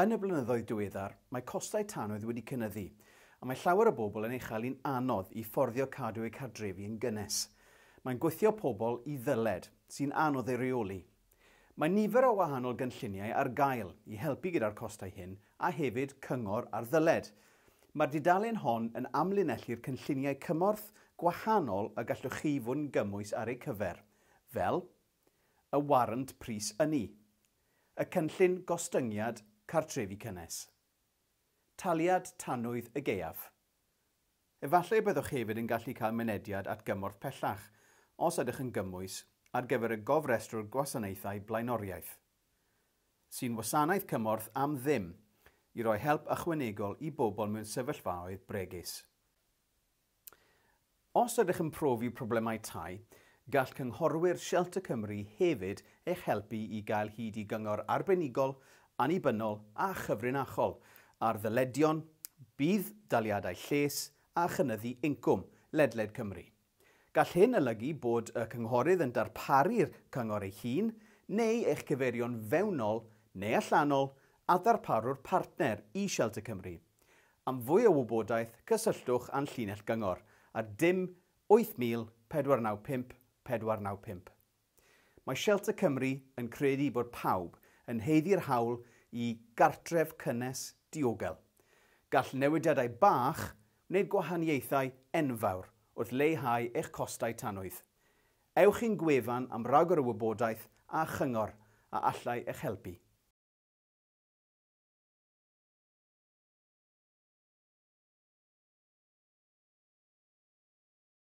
Yn y blynyddoedd diweddar, mae costau tanwydd wedi cynyddu, a mae llawer o bobl yn ei chael hi'n anodd i fforddio cadw eu cartrefi yn gynnes. Mae'n gwthio pobl i ddyled, sy'n anodd ei reoli. Mae nifer o wahanol gynlluniau ar gael i helpu gyda'r costau hyn a hefyd cyngor ar ddyled. Mae'r dudalen hon yn amlinellu'r cynlluniau cymorth gwahanol y gallwch chi fod yn gymwys ar eu cyfer, fel y warant pris ynni, y cynllun gostyngiad cartrefi cynnes, taliad tanwydd y gaeaf. Efallai y byddwch hefyd yn gallu cael mynediad at gymorth pellach, os ydych yn gymwys, ar gyfer y gofrestrwr gwasanaethau blaenoriaeth, sy'n wasanaeth cymorth am ddim i roi help ychwanegol i bobl mewn sefyllfaoedd bregus. Os ydych yn profi problemau tai, gall cynghorwyr Shelter Cymru hefyd eich helpu i gael hyd i gyngor arbenigol, annibynnol a chyfrinachol ar ddyledion, budd daliadau lles a chynyddu incwm ledled Cymru. Gall hyn olygu bod y cynghorydd yn darparu'r cyngor ei hun neu eich cyfeirio'n fewnol neu allanol a ddarparwr partner i Shelter Cymru. Am fwy o wybodaeth, cysylltwch â'n llinell gyngor ar 0 8000 495 495. Mae Shelter Cymru yn credu bod pawb yn haeddu'r hawl i gartref cynnes diogel. Gall newidiadau bach wneud gwahaniaethau enfawr wrth leihau eich costau tanwydd. Ewch i'n gwefan am ragor o wybodaeth a chyngor a allai eich helpu.